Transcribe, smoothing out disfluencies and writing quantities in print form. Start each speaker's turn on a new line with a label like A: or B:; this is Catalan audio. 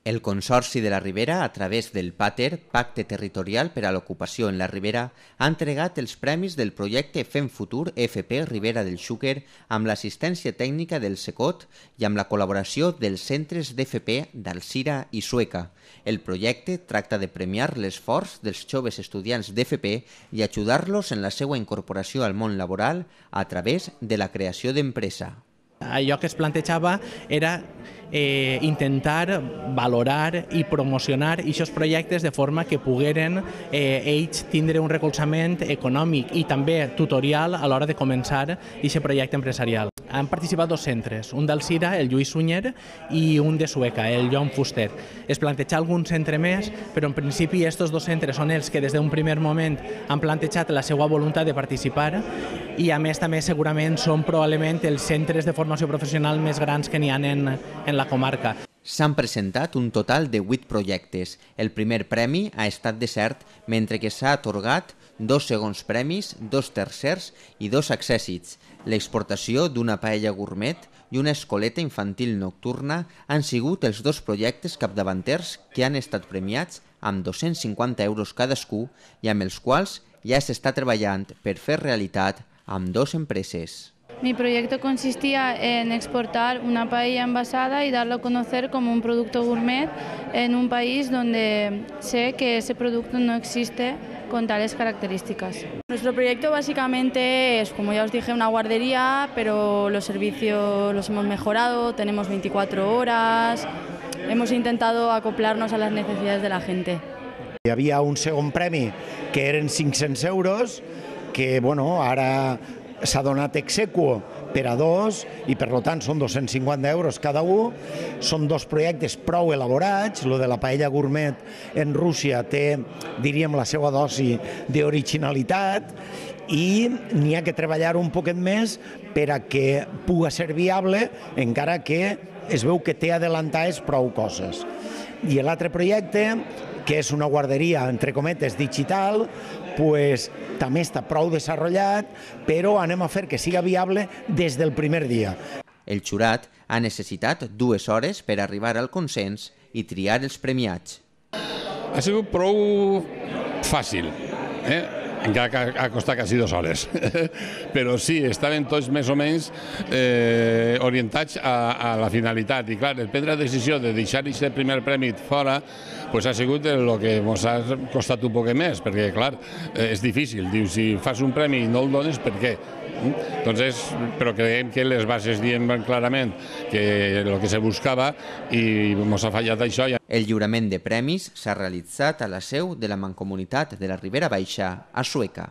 A: El Consorci de la Ribera, a través del PATER, Pacte Territorial per a l'Ocupació en la Ribera, ha entregat els premis del projecte Fem Futur FP Ribera del Xúquer amb l'assistència tècnica del SECOT i amb la col·laboració dels centres d'FP d'Alzira i Sueca. El projecte tracta de premiar l'esforç dels joves estudiants d'FP i ajudar-los en la seva incorporació al món laboral a través de la creació d'empresa.
B: Allò que es plantejava era intentar valorar i promocionar aquests projectes de forma que pogueren ells tindre un recolzament econòmic i també tutorial a l'hora de començar aquest projecte empresarial. Han participat dos centres, un d'Alzira, el Lluís Sunyer, i un de Sueca, el Joan Fuster. Es planteja algun centre més, però en principi aquests dos centres són els que des d'un primer moment han plantejat la seva voluntat de participar i a més també segurament són probablement els centres de formació professional més grans que n'hi ha en la comarca.
A: S'han presentat un total de 8 projectes. El primer premi ha estat desert, mentre que s'ha atorgat 2 segons premis, 2 tercers i 2 accèssits. L'exportació d'una paella gourmet i una escoleta infantil nocturna han sigut els 2 projectes capdavanters que han estat premiats amb 250 euros cadascú i amb els quals ja s'està treballant per fer realitat amb 2 empreses.
C: Mi proyecto consistía en exportar una paella envasada y darlo a conocer como un producto gourmet en un país donde sé que ese producto no existe con tales características.
D: Nuestro proyecto básicamente es, como ya os dije, una guardería, pero los servicios los hemos mejorado, tenemos 24 horas, hemos intentado acoplarnos a las necesidades de la gente.
E: Hi havia un segon premi que eren 500 euros, que ara s'ha donat exequo per a 2 i per tant són 250 euros cada un. Són 2 projectes prou elaborats. Lo de la paella gourmet en Rússia té, diríem, la seva dosi d'originalitat i n'hi ha que treballar un poquet més per a que pugui ser viable, encara que es veu que té adelantades prou coses. I l'altre projecte, que és una guarderia, entre cometes, digital, també està prou desenvolupat, però anem a fer que siga viable des del primer dia.
A: El jurat ha necessitat 2 hores per arribar al consens i triar els premiats.
F: Ha sigut prou fàcil, encara que ha costat quasi 2 hores. Però sí, estaven tots més o menys orientats a la finalitat. I clar, el prendre la decisió de deixar aquest primer premi fora ha sigut el que ens ha costat un poc més, perquè clar, és difícil. Dius, si fas un premi i no el dones, per què? Però creiem que les bases diem clarament que el que se buscava i ens ha fallat això.
A: El lliurament de premis s'ha realitzat a la seu de la Mancomunitat de la Ribera Baixa, a Sueca.